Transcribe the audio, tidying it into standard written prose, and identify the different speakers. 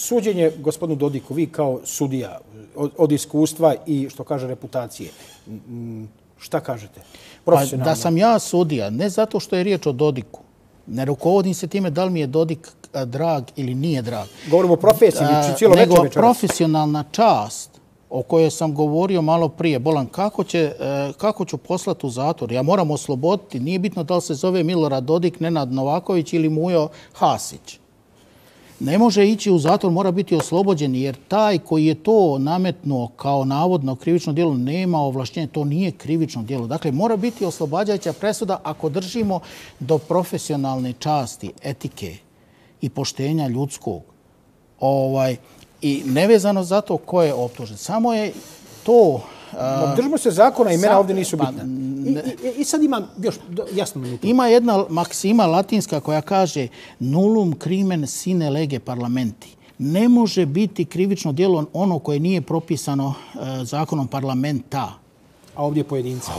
Speaker 1: suđenje gospodinu Dodiku, vi kao sudija od iskustva i, što kaže, reputacije, šta kažete?
Speaker 2: Da sam ja sudija, ne zato što je riječ o Dodiku. Ne rukovodim se time da li mi je Dodik drag ili nije drag.
Speaker 1: Govorimo o profesiji, cijelo večer večeras.
Speaker 2: Nego profesionalna čast o kojoj sam govorio malo prije. Bolan, kako ću poslati u zatvor? Ja moram osloboditi. Nije bitno da li se zove Milorad Dodik, Nenad Novaković ili Mujo Hasić. Ne može ići u zatvor, mora biti oslobođen, jer taj koji je to nametnuo kao navodno krivično djelo nema ovlaštenje. To nije krivično djelo. Dakle, mora biti oslobađajuća presuda ako držimo do profesionalne časti, etike i poštenja ljudskog. I nevezano za to ko je optužen. Samo je to...
Speaker 1: Držimo se zakona, imena ovdje nisu bitna. I sad imam još jasno minutu.
Speaker 2: Ima jedna maksima latinska koja kaže nullum crimen sine lege parlamenti. Ne može biti krivično djelo ono koje nije propisano zakonom parlamenta.
Speaker 1: A ovdje pojedinca.